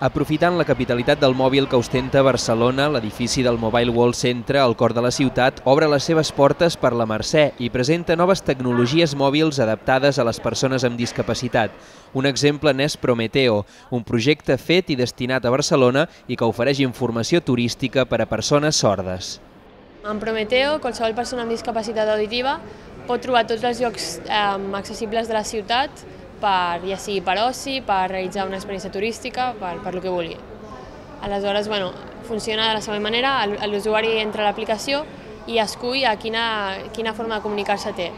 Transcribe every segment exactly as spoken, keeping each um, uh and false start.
Aprofitant la capitalitat del mòbil que ostenta Barcelona, l'edifici del Mobile World Centre, al cor de la ciutat, obre les seves portes per la Mercè i presenta noves tecnologies mòbils adaptades a les persones amb discapacitat. Un exemple n'és Prometeo, un projecte fet i destinat a Barcelona i que ofereix informació turística per a persones sordes. En Prometeo, qualsevol persona amb discapacitat auditiva pot trobar tots els llocs eh, accessibles de la ciutat, per, ja sigui per oci, per realitzar una experiència turística, per, per lo que vulgui. Aleshores, bueno, funciona de la següent manera, l'usuari entra a l'aplicació i escull a quina, quina forma de comunicar-se té.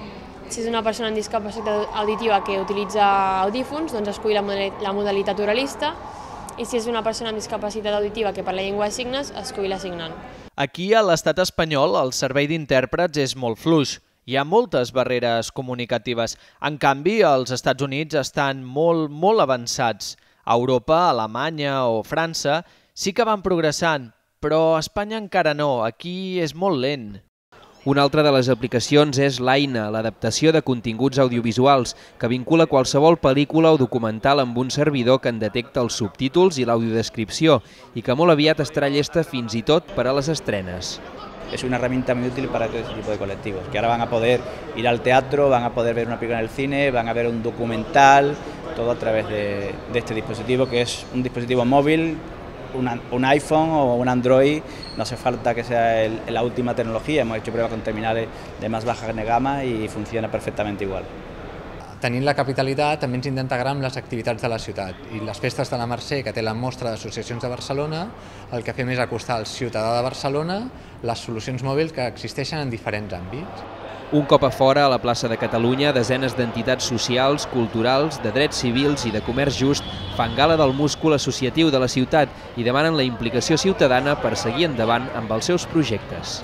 Si és una persona amb discapacitat auditiva que utilitza audífons, doncs escull la, la modalitat oralista, i si és una persona amb discapacitat auditiva que parla llengua de signes, escull la signant. Aquí, a l'estat espanyol, el servei d'intèrprets és molt fluix. Hi ha moltes barreres comunicatives. En canvi, els Estats Units estan molt, molt avançats. A Europa, Alemanya o França sí que van progressant, però a Espanya encara no. Aquí és molt lent. Una altra de les aplicacions és l'Aina, l'adaptació de continguts audiovisuals, que vincula qualsevol pel·lícula o documental amb un servidor que en detecta els subtítols i l'audiodescripció i que molt aviat estarà llesta fins i tot per a les estrenes. Es una herramienta muy útil para todo ese tipo de colectivos, que ahora van a poder ir al teatro, van a poder ver una película en el cine, van a ver un documental, todo a través de, de este dispositivo, que es un dispositivo móvil, una, un iPhone o un Android. No hace falta que sea el, la última tecnología, hemos hecho pruebas con terminales de más baja gama y funciona perfectamente igual. Tenint la capitalitat també ens integrem amb les activitats de la ciutat i les festes de la Mercè, que té la mostra d'associacions de Barcelona, el que fem és acostar al ciutadà de Barcelona les solucions mòbils que existeixen en diferents àmbits. Un cop a fora, a la plaça de Catalunya, desenes d'entitats socials, culturals, de drets civils i de comerç just fan gala del múscul associatiu de la ciutat i demanen la implicació ciutadana per seguir endavant amb els seus projectes.